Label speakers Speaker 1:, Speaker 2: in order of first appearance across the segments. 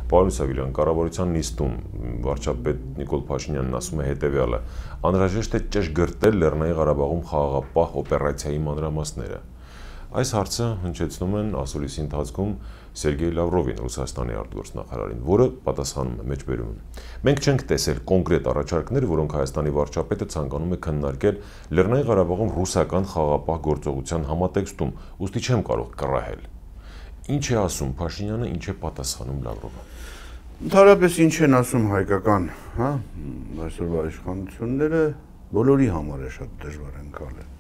Speaker 1: Պարոն Իսագելյան, կառավարության նիստում վարչապետ Նիկոլ Փաշինյանն ասում է հետևյալը. անհրաժեշտ է ճշգրտել Լեռնային Ղարաբաղում խաղաղապահ օպերացիայի մանրամասները։ Այս հարցը հնչեցնում են ասուլիսի ընթացքում Սերգեյ Լավրովին, Ռուսաստանի արտգործնախարարին, որը պատասխանում է մեջբերում։ Մենք չենք տեսել կոնկրետ առաջարկներ, որոնք Հայաստանի վարչապետը ցանկանում է քննարկել Լեռնային Ղարաբաղում ռուսական խաղաղապահ գործողության համատեքստում, ուստի չեմ կարող կռահել։ Ինչ է ասում Փաշինյանը, ինչ է պատասխանում Լավրովը։
Speaker 2: Ընդհանրապես ինչ են ասում հայկական, հա, այսօրվա իշխանությունները բոլորի համար է շատ դժվար ընկալել։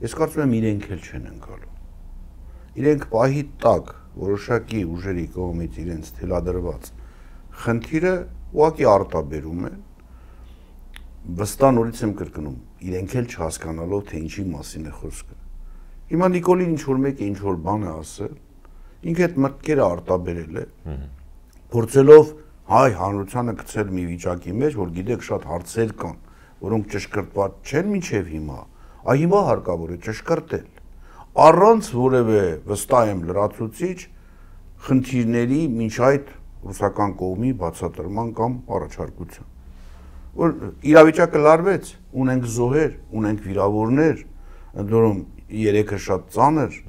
Speaker 2: Ես կարծում եմ իրենք էլ չեն ընկալում։ Իրենք պահի տակ որոշակի ուժերի կողմից իրենց թելադրված խնդիրը ուղղակի արտաբերում են, վստահ նորից եմ կրկնում, իրենք էլ չհասկանալով, թե ինչի մասին է խոսքը։ Հիմա Նիկոլին ինչ-որ մեկը ինչ-որ բան է ասել, ինքը այդ մտքերը արտաբերել է, փորձելով հայ հանրությանը գցել մի վիճակի մեջ, որ գիտեք շատ հարցեր կան, որոնք ճշգրտված չեն մինչև հիմա, այ հիմա հարկավոր է ճշգրտել, առանց որևէ վստահ եմ լրացուցիչ խնդիրների մինչ այդ ռուսական կողմի բացատրման կամ առաջարկության։ Որ իրավիճակը լարվեց, ունենք զոհեր, ունենք վիրավորներ, ընդ որում 3-ը շատ ծանր։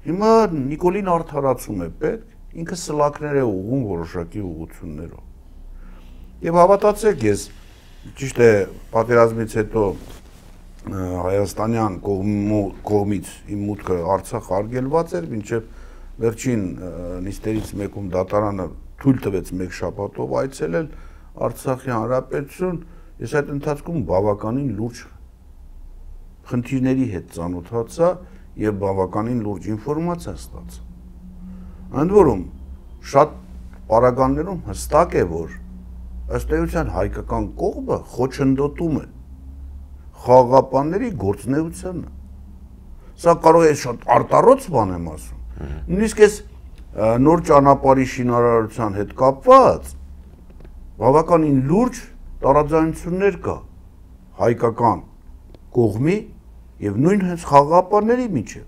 Speaker 2: Հիմա Նիկոլին արդարացում է պետք, ինքը սլաքներ է ուղղում որոշակի ուղղություններով։ Եվ հավատացեք, ես ճիշտ է պատերազմից հետո հայաստանյան կողմից իմ մուտքը Արցախ արգելված էր, մինչև վերջին նիստերից մեկում դատարանը թույլ տվեց մեկ շաբաթով այցելել Արցախի հանրապետություն, ես այդ ընթացքում բավականին լուրջ խնդիրների հետ ծանոթացա եւ բավականին լուրջ ինֆորմացիա ստացա։ Ընդ որում շատ պարագաներում հստակ է, որ ըստ էության հայկական կողմը խոչընդոտում է խաղաղապահների գործունեությանը։ Սա կարող է շատ արտառոց բան եմ ասում։ Նույնիսկ այս նոր ճանապարհի շինարարության հետ կապված բավականին լուրջ տարաձայնություններ կա հայկական կողմի եւ նույն հենց խաղաղապահների միջեւ։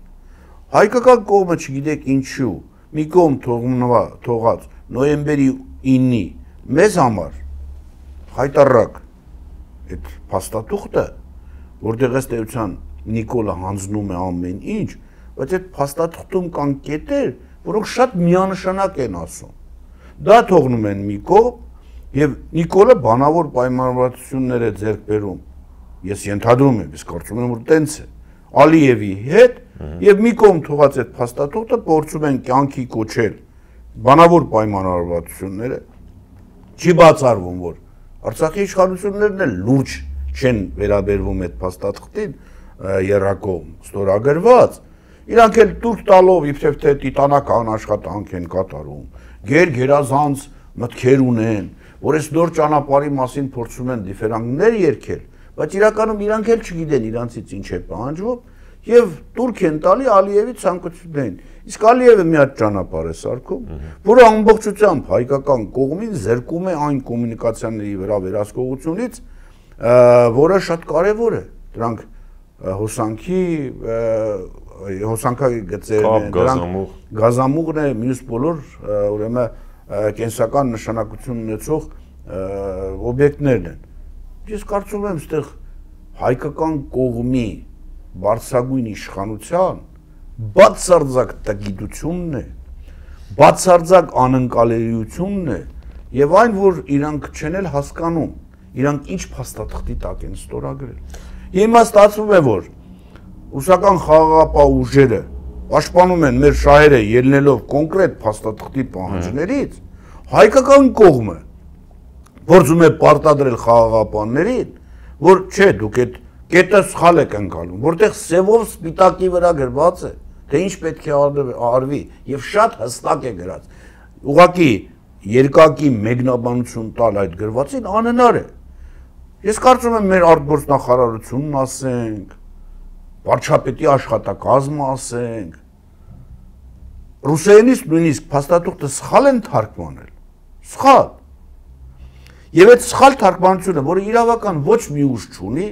Speaker 2: Հայկական կողմը չգիտեք ինչու մի կողմ թողած նոյեմբերի 9-ի մեզ համար հայտարարակ այդ փաստաթուղթը, որտեղ ըստ էության Նիկոլը հանձնում է ամեն ինչ, բայց այդ փաստաթղթում կան կետեր, որոնք շատ միանշանակ են ասում։ Դա թողնում են մի կողմ եւ Նիկոլը բանավոր պայմանավորվածություններ է ձեռք բերում։ Ես ենթադրում եմ, ես կարծում եմ, որ տենց է։ Ալիևի հետ եւ մի կողմ թողած այդ փաստաթուղթը փորձում են կյանքի կոչել բանավոր պայմանավորվածությունները։ Չի բացառվում, որ Արցախի իշխանություններն էլ լուրջ չեն վերաբերվում այդ փաստաթղթին երրակողմ ստորագրված, իրանք էլ տուրք տալով իբրև թե տիտանական աշխատանք են կատարում, գերազանց մտքեր ունեն, որ այս նոր ճանապարհի մասին փորձում են դիֆերանսներ երգել, բայց իրականում իրանք էլ չգիտեն իրանցից ինչ է պահանջվում եւ տուրք են տալի Ալիևի ցանկություններին։ Իսկ Ալիևը մի հատ ճանապարհ է սարքում, որը ամբողջությամբ հայկական կողմին զրկում է այն կոմունիկացիաների վրա վերահսկողությունից, որը շատ կարևոր է։ Դրանք հոսանքային գծերն են, դրանք գազամուղն է, մյուս բոլոր ուրեմն կենսական նշանակություն ունեցող օբյեկտներն են։ Ես կարծում եմ, այստեղ հայկական կողմի բարձրագույն իշխանության բացարձակ տգիտությունն է, բացարձակ անընկալելիությունն է եւ այն, որ իրանք չեն էլ հասկանում, իրանք ինչ փաստաթղթի տակ են ստորագրել։ Հիմա ստացվում է, որ ռուսական խաղաղապահ ուժերը պաշտպանում են մեր շահերը ելնելով կոնկրետ փաստաթղթի պահանջներից, հայկական կողմը փորձում է պարտադրել խաղաղապահներին, որ չէ, դուք այդ կետը սխալ եք ընկալում, որտեղ սևով սպիտակի վրա գրված է, թե ինչ պետք է արվի եւ շատ հստակ է գրած։ Ուղղակի երկակի մեկնաբանություն տալ այդ գրվածին անհնար է։ Ես կարծում եմ մեր արտգործնախարարությունն ասենք, վարչապետի աշխատակազմը ասենք, ռուսերենից նույնիսկ փաստաթուղթը սխալ են թարգմանել, սխալ։ Եվ այդ սխալ թարգմանությունը, որը իրավական ոչ մի ուժ չունի,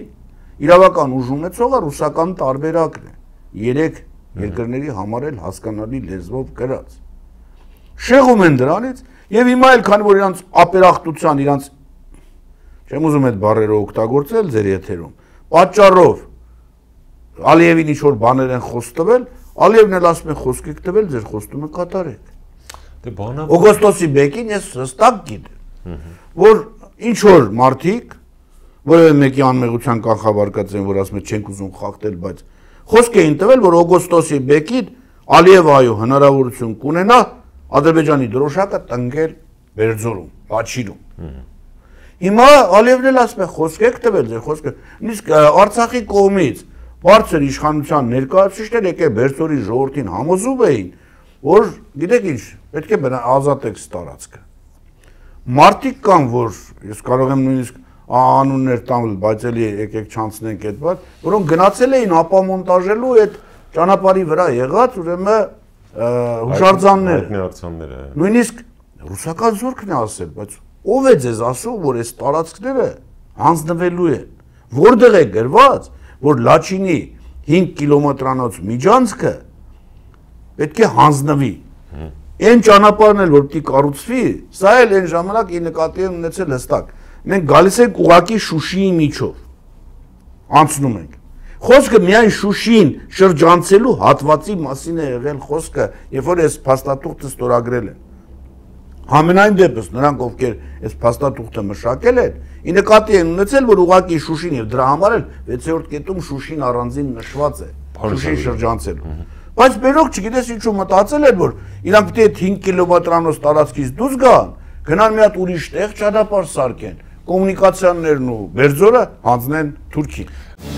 Speaker 2: իրավական ուժ ունեցողը ռուսական տարբերակն է, 3 երկրների համար էլ հասկանալի լեզվով գրած։ Շեղում են դրանից Եվ հիմա էլ քանի որ իրանց ապերախտության, իրանց չեմ ուզում այդ բառերը օգտագործել ձեր եթերում, պատճառով Ալիևին ինչ-որ բաներ են խոսք տվել, Ալիևն էլ ասում է խոսք եք տվել, ձեր խոստումը կատարեք։
Speaker 1: Դե բանա
Speaker 2: Օգոստոսի 1-ին ես հստակ գիտեմ, որ ինչ-որ մարդիկ, որևէ մեկի անմեղության կանխավարկած են, որ ասում են չենք ուզում խախտել, բայց խոսք էին տվել, որ օգոստոսի 1-ին Ալիևը այո հնարավորություն կունենա Ադրբեջանի դրոշակը տնկել Բերձորում, Լաչինում։ Հիմա Ալիևն էլ ասում է խոսք եք տվել, ձեր խոսքը, նույնիսկ Արցախի կողմից բարձր իշխանության ներկայացուցիչներ եկել Բերձորի ժողովրդին համոզում էին, որ գիտեք ինչ, պետք է ազատեք տարածքը։ Մարդիկ կան, որ ես կարող եմ նույնիսկ անուններ տալ, բայց էլի եկեք չանցնենք այդ բան, որոնք գնացել էին ապամոնտաժելու այդ ճանապարհի վրա եղած ուրեմն հուշարձանները։ Նույնիսկ ռուսական զորքն է ասել, բայց ով է ձեզ ասում, որ այս տարածքները հանձնվելու են։ Որտեղ է գրված, որ Լաչինի 5 կիլոմետրանոց միջանցքը պետք է հանձնվի։ Այն ճանապարհն էլ որ պիտի կառուցվի, սա էլ այն ժամանակ ի նկատի են ունեցել հստակ։ Մենք գալիս ենք ուղակի Շուշիի միջով։ Անցնում ենք։ Խոսքը միայն Շուշին շրջանցելու հատվածի մասին է եղել խոսքը, երբ որ այս փաստաթուղթը ստորագրել են։ Համենայն դեպս նրանք ովքեր այս փաստաթուղթը մշակել են, ի նկատի են ունեցել, որ ուղակի Շուշին եւ դրա համար էլ 6-րդ կետում Շուշին առանձին նշված է։ Շուշին շրջանցելու։ Բայց մերոք չգիտես ինչու մտածել են, որ իրանք պետք է 5 կիլոմետրանոց տարածքից դուրս գան, գնան մի հատ ուրիշ տեղ ճանապարհ սարքեն, կոմունիկացիաներն ու Բերձորը հանձնեն Թուրքիին։